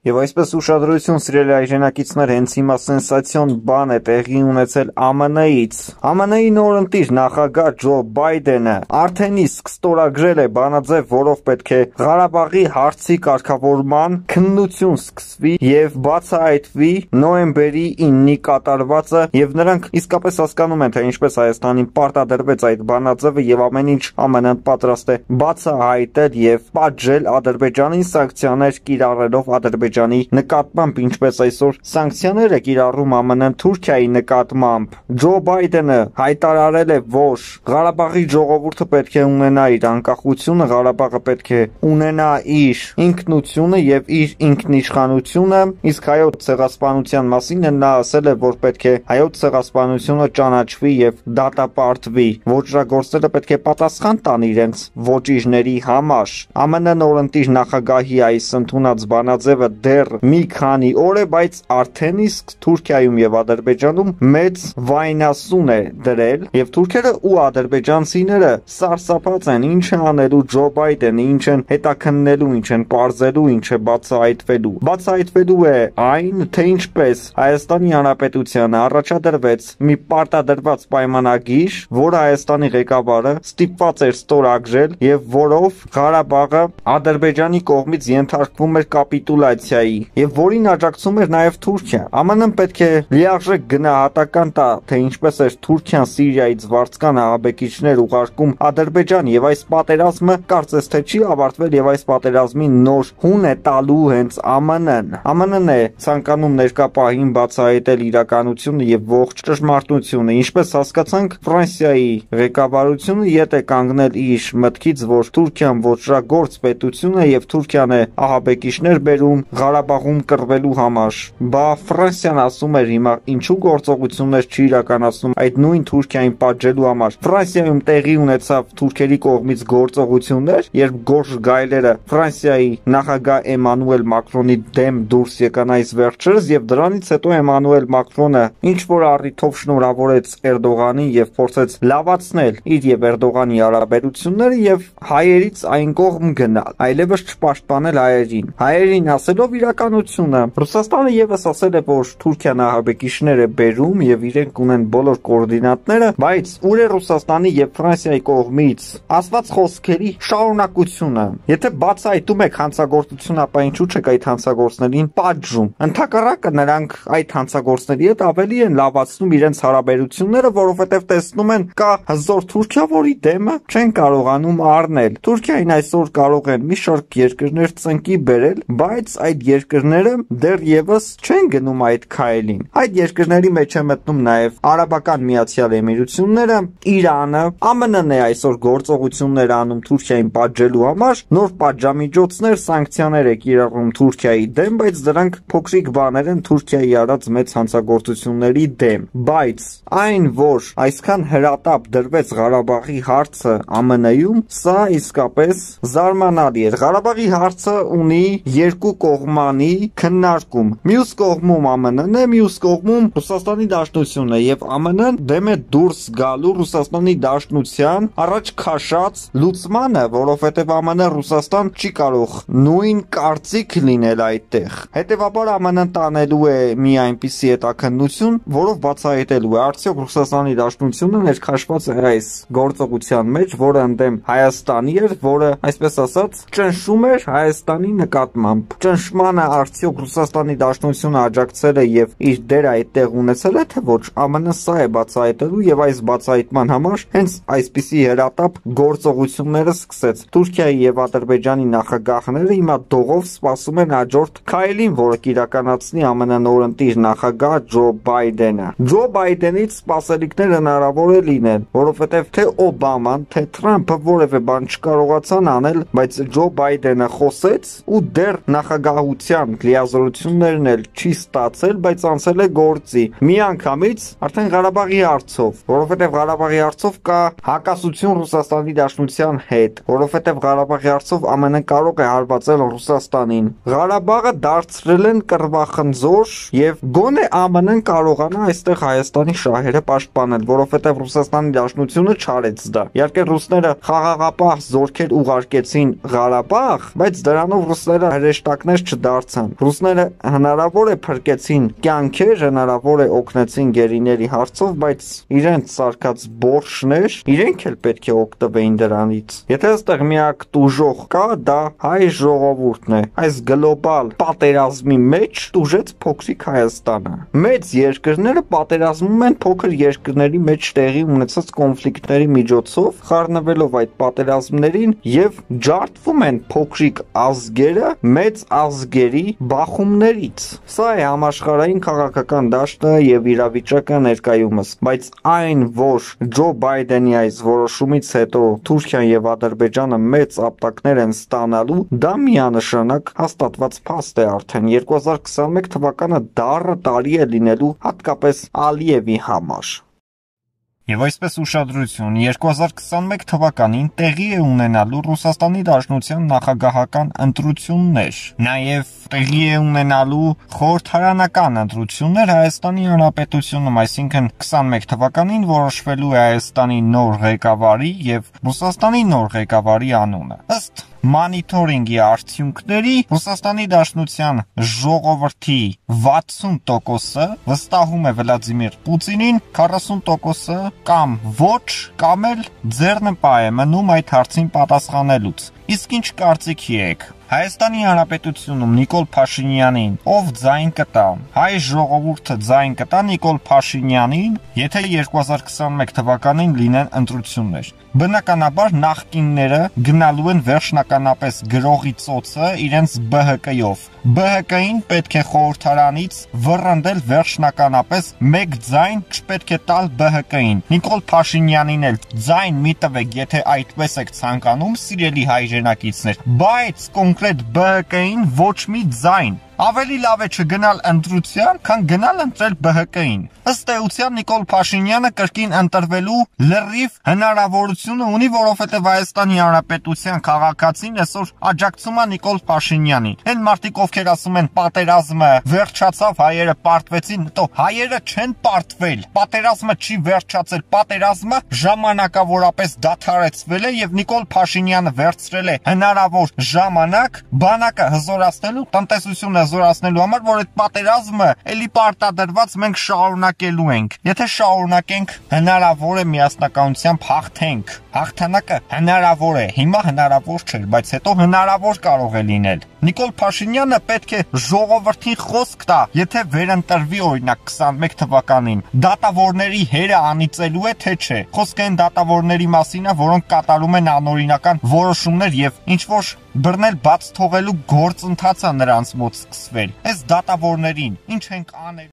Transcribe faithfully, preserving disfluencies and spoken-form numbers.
Եվ այսպես ուշադրություն սիրելի հայրենակիցներ, հենց հիմա սենսացիոն բան է տեղի ունեցել Ամն Ամն-ից։ Ամն-ի նոր ընտիր նախագահ Ջո Բայդենը արդեն իսկ ստորագրել է բանաձև, որով պետք է Ղարաբաղի հարցի կարգավորման քննություն սկսվի եւ բացահայտվի նոյեմբերի իննի կատարվածը, եւ նրանք իսկապես հասկանում են, թե ինչպես Հայաստանին պարտադրվեց այդ բանաձևը եւ ամեն ինչ ԱՄՆ-ն պատրաստ է բացահայտել եւ պատժել Ադրբեջանին սանկցիաներ կիրառելով Ադրբեջանի նկատմամբ, ինչպես այսօր սանկցիաներ է կիրառում ԱՄՆ-ն Թուրքիայի նկատմամբ։ Ջո Բայդենը հայտարարել է, որ Ղարաբաղի ժողովուրդը պետք է ունենա իր անկախությունը, Ղարաբաղը պետք է ունենա իր ինքնությունը եւ իր ինքնիշխանությունը, իսկ հայոց ցեղասպանության մասին նա ասել է, որ պետք է հայոց ցեղասպանությունը ճանաչվի եւ դատապարտվի, ոճրագործները պետք է պատասխան տան իրենց ոճիրների համար։ ԱՄՆ նորընտիր նախագահի այս ընդունած բանաձևը դեռ մի քանի օր է, բայց արդեն իսկ Թուրքիայում եւ Ադրբեջանում մեծ վայնասուն է դրել եւ թուրքերը ու ադրբեջանցիները սարսափած են, ինչ է անելու Ջո Բայդենը, ինչ են հետաքննելու, ինչ են պարզելու, ինչ է բացահայտվելու։ Բացահայտվելու է այն, թե ինչպես Հայաստանի Հանրապետությանը առաջադրվեց մի պարտադրված պայմանագիր, որ Հայաստանի ղեկավարը ստիպված էր ստորագրել եւ որով Ղարաբաղը Ադրբեջանի կողմից ենթարկվում էր կապիտուլյացիայի եւ որին աջակցում էր նաեւ Թուրքիա։ ԱՄՆ-ն պետք է լիարժեք գնահատական տա, թե ինչպես էր Թուրքիան Սիրիայից վարձկան ահաբեկիչներ ուղարկում Ադրբեջան եւ այս պատերազմը կարծես թե չի ավարտվել եւ այս պատերազմի նոր հուն է տալու հենց ԱՄՆ-ն։ ԱՄՆ-ն է ցանկանում ներկա պահին բացահայտել իրականությունը եւ ողջ ճշմարտությունը, ինչպես հասկացանք, Ֆրանսիայի ղեկավարությունը ետ է կանգնել իր մտքից, որ Թուրքիան ոճրագործ պետություն է եւ Թուրքիան է ահաբեկիչներ բերում Ղարաբաղում կռվելու համար։ Բա Ֆրանսիան ասում էր հիմա ինչու գործողություններ չի իրականացնում այդ նույն Թուրքիային պատժելու համար։ Ֆրանսիայում տեղի ունեցավ թուրքերի կողմից գործողություններ, երբ գորշ գայլերը Ֆրանսիայի նախագահ Էմանուել Մակրոնի դեմ դուրս եկան այս վերջերս եւ դրանից հետո Էմանուել Մակրոնը ինչ որ առիթով շնորհավորեց Էրդողանին եւ փորձեց լավացնել իր եւ Էրդողանի հարաբերությունները եւ հայերից այն կողմ գնալ, այլևս չպաշտպանել հայերին։ Հայերին ասելով իրականությունը, Ռուսաստանը եւս ասել է, որ Թուրքիան ահաբեկիչներ է բերում եւ իրենք ունեն բոլոր կոորդինատները, բայց ուր է Ռուսաստանի եւ Ֆրանսիայի կողմից ասված խոսքերի շարունակությունը։ Եթե բացահայտում եք հանցագործություն, ապա ինչու՞ չեք այդ հանցագործներին պատժում։ Ընդհակառակը նրանք այդ հանցագործների հետ ավելի են լավացնում իրենց հարաբերությունները, որովհետեւ տեսնում են կա հզոր Թուրքիա, որի դեմը չեն կարողանում առնել։ Թուրքիային այսօր կարող են մի շարք երկրներ ծնկի բերել, բայց այդ երկրները դեռևս չեն գնում այդ քայլին։ Այդ երկրների մեջ է մտնում նաև Արաբական Միացյալ Էմիրությունները, Իրանը, ԱՄՆ-ն է այսօր գործողություններ անում Թուրքիային պատժելու համար, նոր պատժամիջոցներ, սանկցիաներ է կիրառում Թուրքիայի դեմ, բայց դրանք փոքրիկ բաներ են Թուրքիայի արած մեծ հանցագործությունների դեմ։ Բայց այն, որ այսքան հրատապ դրվեց Ղարաբաղի հարցը ԱՄՆ-ում, սա իսկապես զարմանալի էր։ Ղարաբաղի հարցը ունի երկու կողմանի քննարկում։ Մյուս կողմում ԱՄՆ-ն է, մյուս կողմում Ռուսաստանի Դաշնությունն է եւ ԱՄՆ-ն դեմ է դուրս գալու Ռուսաստանի Դաշնության առաջ քաշած լուծմանը, որովհետեւ ԱՄՆ Ռուսաստան չի կարող նույն կարծիք լինել այդտեղ։ Հետևաբար ԱՄՆ-ն տանելու է մի այնպիսի հետաքննություն, որով բացահայտելու է արդյոք Ռուսաստանի Դաշնությունը ներքաշված է այս գործողության մեջ, որը ընդդեմ Հայաստանի էր, որը, այսպես ասած, ճնշում էր Հայաստանի նկատմամբ։ Ճնշմանը արդյոք Ռուսաստանի Դաշնությունը աջակցել է եւ իր դերը այդտեղ ունեցել է, թե ոչ։ ԱՄՆ սա է բացահայտելու եւ այս բացահայտման համար հենց այսպիսի հրատապ գործողությունները սկսեց։ Թուրքիայի եւ Ադրբեջանի նախագահները հիմա դողով սպասում են հաջորդ քայլին, որը կիրականացնի ԱՄՆ նորընտիր նախագահ Ջո Բայդենը։ Ջո Բայդենից սպասելիքներ հնարավոր է լինել, որովհետեւ թե Օբաման, թե Թրամփը որևէ բան չկարողացան անել, բայց Ջո Բայդենը խոսեց ու դեռ նախագահության լիազորություններն էլ չի ստացել, բայց անցել է գործի։ Միանգամից արդեն Ղարաբաղի հարցով, որովհետև Ղարաբաղի հարցով կա հակասություն Ռուսաստանի Դաշնության հետ, որովհետև Ղարաբաղի հարցով ԱՄՆ-ն կարող է հարվածել Ռուսաստանին։ Ղարաբաղը դարձրել են կռվախնձոր եւ գոնե ԱՄՆ-ն կարողանա այստեղ Հայաստանի շահերը պաշտպանել, որովհետև Ռուսաստանի Դաշնությունը չարեց դա։ Իհարկե ռուսները խաղաղապահ զորքեր ուղարկեցին Ղարաբաղ, բայց դրանով ռուսները հրեշտակներ չդարձան։ Ռուսները հնարավոր է փրկեցին կյանքեր, հնարավոր է օգնեցին գերիների հարցով, բայց իրենց սարքած բորշներ, իրենք էլ պետք է օգտվեին դրանից։ Եթե այստեղ միակ տուժող կա, դա հայ ժողովուրդն է։ Այս գլոբալ պատերազմի մեջ տուժեց փոքրիկ Հայաստանը։ Մեծ երկրները պատերազմում են փոքր երկրների մեջ տեղի ունեցած կոնֆլիկտների միջոցով, խառնվելով այդ պատերազմներին եւ ջարդվում են փոքրիկ ազգերը մեծ ազգերի բախումներից։ Սա է համաշխարհային քաղաքական դաշտը եւ իրավիճակը ներկայումս, բայց այն, որ Ջո Բայդենի այս որոշումից հետո Թուրքիան եւ Ադրբեջանը մեծ ապտակներ են ստանալու, դա միանշանակ հաստատված փաստ է արդեն։ երկու հազար քսաներեք թվականը դառը տարի է լինելու հատկապես Ալիևի համար։ Եվ այսպես ուշադրություն, երկու հազար քսաներեք թվականին տեղի է ունենալու Ռուսաստանի Դաշնության նախագահական ընտրություններ, նաև տեղի է ունենալու խորհրդարանական ընտրություններ Հայաստանի Հանրապետությունում, այսինքն քսաներեք թվականին որոշվելու է Հայաստանի նոր ղեկավարի եւ Ռուսաստանի նոր ղեկավարի անունը։ Ըստ Monitoring-ի արդյունքների Ռուսաստանի Դաշնության ժողովրդի վաթսուն տոկոսը վստահում է Վլադիմիր Պուտինին, քառասուն տոկոսը կամ ոչ, կամ էլ ձեռնպահ է մնում այդ հարցին պատասխանելուց։ Իսկ ինչ կարծիքի եք։ Հայաստանի Հանրապետությունում Նիկոլ Փաշինյանին ով ձայն կտա։ Հայ ժողովուրդը ձայն կտա Նիկոլ Փաշինյանին, եթե երկու հազար քսաներեք թվականին լինեն ընտրություններ։ Բնականաբար նախկինները գնալու են վերջնականապես գրողի ծոցը իրենց B H K-ով։ B H K-ին պետք է խորհրդարանից վռնդել վերջնականապես մեկ ձայն չպետք է տալ B H K-ին։ Նիկոլ Փաշինյանին էլ ձայն մի տվեք, եթե այդպես եք ցանկանում, սիրելի հայ ժենակիցներ, բայց կոնկրետ B H K-ին ոչ մի ձայն։ Ավելի լավ է չգնալ ընտրության, քան գնալ ընտրել B H K-ին։ Ըստ էության Նիկոլ Փաշինյանը կրկին ընտրվելու լրիվ հնարավորությունը ունի, որովհետև Հայաստանի Հանրապետության քաղաքացին այսօր աջակցում է Նիկոլ Փաշինյանին։ Այն մարդիկ, ովքեր ասում են պատերազմը վերջացավ, հայերը պարտվեցին, તો հայերը չեն պարտվել։ Պատերազմը չի վերջացել, պատերազմը ժամանակավորապես դադարեցվել է եւ Նիկոլ Փաշինյանը վերցրել է հնարավոր ժամանակ բանակը հզորացնելու, տնտեսությունը հզորացնելու համար, որ այդ պատերազմը էլի պարտադրված մենք շարունակելու ենք։ Եթե շարունակենք, հնարավոր է միասնականությամբ հաղթենք։ Հաղթանակը հնարավոր է, հիմա հնարավոր չէ, բայց հետո հնարավոր կարող է լինել։ Նիկոլ Փաշինյանը պետք է ժողովրդին խոսք տա, եթե վերընտրվի օրինակ քսաներեք թվականին, դատավորների հերը անիծելու է, թե չէ։ Խոսքը այն դատավորների մասին է, որոնք կատարում են անօրինական որոշումներ եւ ինչ որ բռնել բաց թողելու գործընթացը նրանց մոտ սկսվել։ Այս դատավորներին ինչ ենք անել։